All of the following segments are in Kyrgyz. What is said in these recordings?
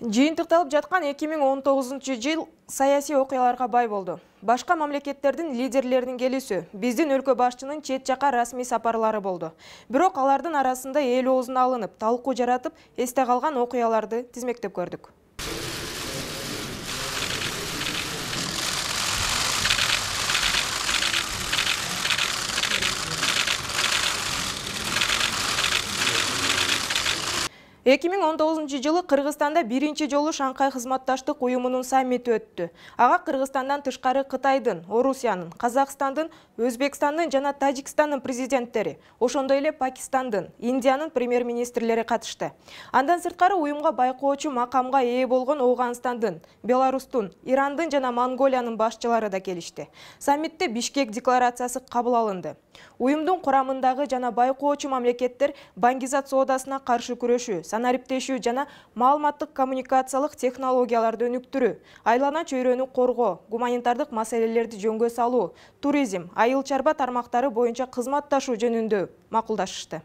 Жыйынтыкталып жаткан 2019 жыл саясий окуяларга бай болду. Башка мамлекеттердин лидерлеринин келүүсү, биздин өлкө башчынын чет жака расмий сапарлары болду. Бирок алардын арасында эл оозуна алынып, талкуу жаратып, эсте калган окуяларды тизмектеп көрдүк. жылы Кыргызстанда биринчи жолу Шанхай кызматташтык уюмунун саммити өттү. Ага Кыргызстандан тышкары Кытайдын, Орусиянын, Казакстандын, Өзбекстандын жана Тажикстандын президенттери, ошондой эле Пакистандын, Индиянын премьер-министрлери катышты. Андан сырткары уюмга байкоочу макамга ээ болгон Ооганстандын, Беларустун, Ирандын жана Монголиянын башчылары да келишти. Саммитте Бишкек декларациясы кабыл алынды. Уюмдун курамындагы жана байкоочу мамлекеттер баңгизат соодасына каршы күрөшүү, санариптешүү жана маалыматтык коммуникациялык технологияларды өнүктүрүү, айлана чөйрөнү коргоо, гуманитардык маселелерди жөнгө салуу, туризм, айыл чарба тармактары боюнча кызматташуу жөнүндө макулдашышты.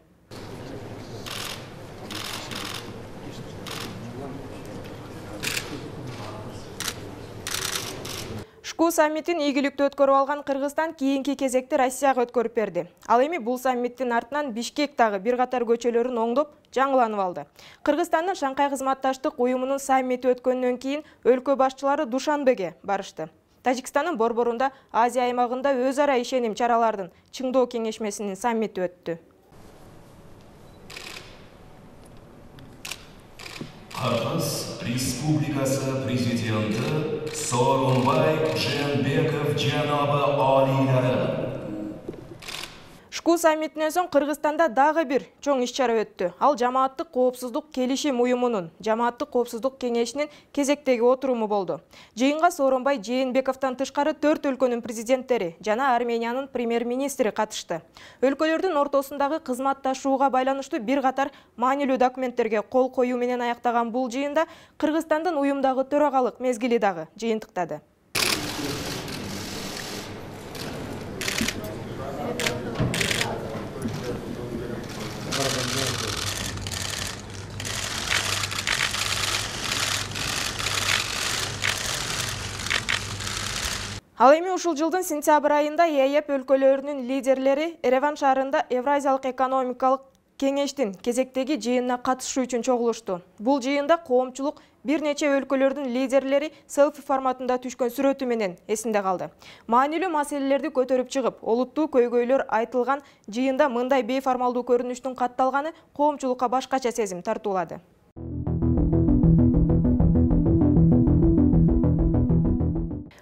Шку саммитин ийгиликтүү өткөрүп алган Кыргызстан кийинки кезекти Россияга өткөрүп берди. Ал эми бул саммиттин артынан Бишкектагы бир катар көчөлөрүн оңдоп, жаңыланып алды. Кыргызстандын Шанхай кызматташтык уюмунун саммити өткөндөн кийин өлкө башчылары Душанбеге барышты. Тажикстандын борборунда Азия аймагында өз ара ишеним чаралардын чыңдоо кеңешмесинин саммити өттү. Кыргыз Республикасы президенти Сооронбай Жээнбеков жанабы алийлары. Шку саммитинен соң Кыргызстанда дагы бир чоң иш-чара өттү. Ал Жамааттык коопсуздук келишим уюмунун, Жамааттык коопсуздук кеңешинин кезектеги отуруму болду. Жыйынга Сооронбай Жээнбековдон тышкары 4 өлкөнүн президенттери жана Армениянын премьер-министри катышты. Өлкөлөрдүн ортосундагы кызматташууга байланыштуу бир катар маанилүү документтерге кол коюу менен аяктаган бул жыйында Кыргызстандын уюмдагы төрагалык мезгили дагы жыйынтыктады. Ал эми ушул жылдын сентябрь айында ЕАЭП өлкөлөрүнүн лидерлери Ереван шаарында Евразиялык экономикалык кеңештин кезектеги жыйынына катышуу үчүн чогулушту. Бул жыйында коомчулук бир нече өлкөлөрдүн лидерлери селфи форматында түшкөн сүрөтү менен эсинде калды. Маанилүү маселелерди көтөрүп чыгып, олуттуу көйгөйлөр айтылган жыйында мындай бейформалдуу көрүнүштүн катталганы коомчулукка башкача сезим тартуулады.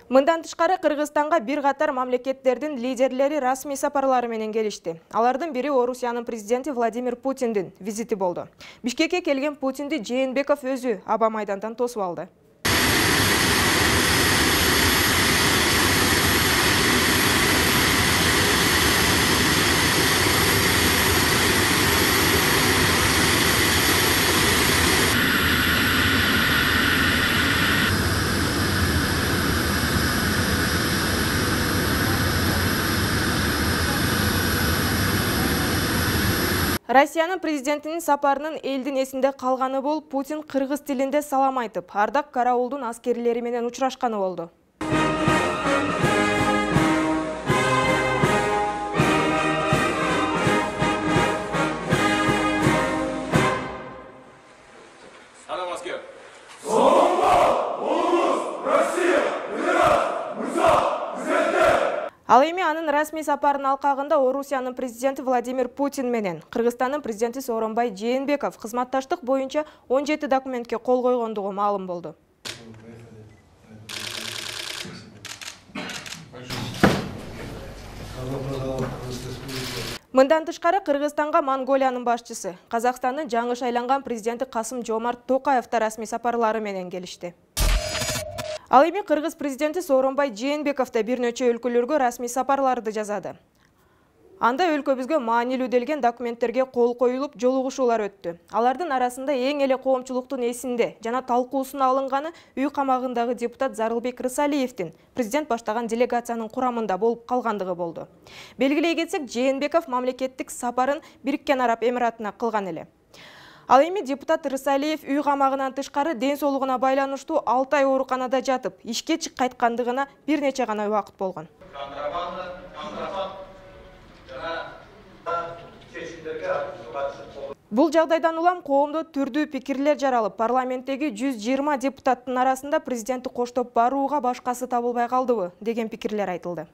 Мындан тышкары Кыргызстанга бир катар мамлекеттердин лидерлери расмий сапарлары менен келишти. Алардын бири Орусиянын президенти Владимир Путиндин визити болду. Бишкекке келген Путинди Жээнбеков өзү аба майдандан тосуп алды. Россиянын президентинин сапарынын элдин эсинде калганы бул Путин кыргыз тилинде салам айтып, ардак караулдун аскерлери менен учурашканы болду. Салам аскер. Ал эми анын расмий сапарынын алкагында Орусиянын президенти Владимир Путин менен Кыргызстандын президенти Сооронбай Жээнбеков кызматташтык боюнча 17 документке кол койгондугу маалым болду. Мындан тышкары Кыргызстанга Монголиянын башчысы, Казакстандын жаңы шайланган президенти Касым-Жомарт Токаев да расмий сапарлары менен келишти. Ал эми Кыргыз президенти Сооронбай Жээнбеков да бир нече өлкөлөргө расмий сапарларды жасады. Анда өлкөбүзгө маанилүү делген документтерге кол коюлуп, жолугушуулар өттү. Алардын арасында эң эле коомчулуктун эсинде жана талкуусуна алынганы үй камагындагы депутат Зарылбек Рысалиевдин президент баштаган делегациянын курамында болуп калгандыгы болду. Белгилей кетсек, Жээнбеков мамлекеттик сапарын Бириккен Араб Эмиратына кылган эле. Ал эми депутат Рысалиев үй камагынан тышкары ден соолугуна байланыштуу 6 ай ооруканада жатып, ишке кайткандыгына бир нече гана убакыт болгон. Бул жагдайдан улам коомдо түрдүү пикирлер жаралып, парламенттеги 120 депутаттын арасында президентти коштоп барууга башкасы табылбай калдыбы деген пикирлер айтылды.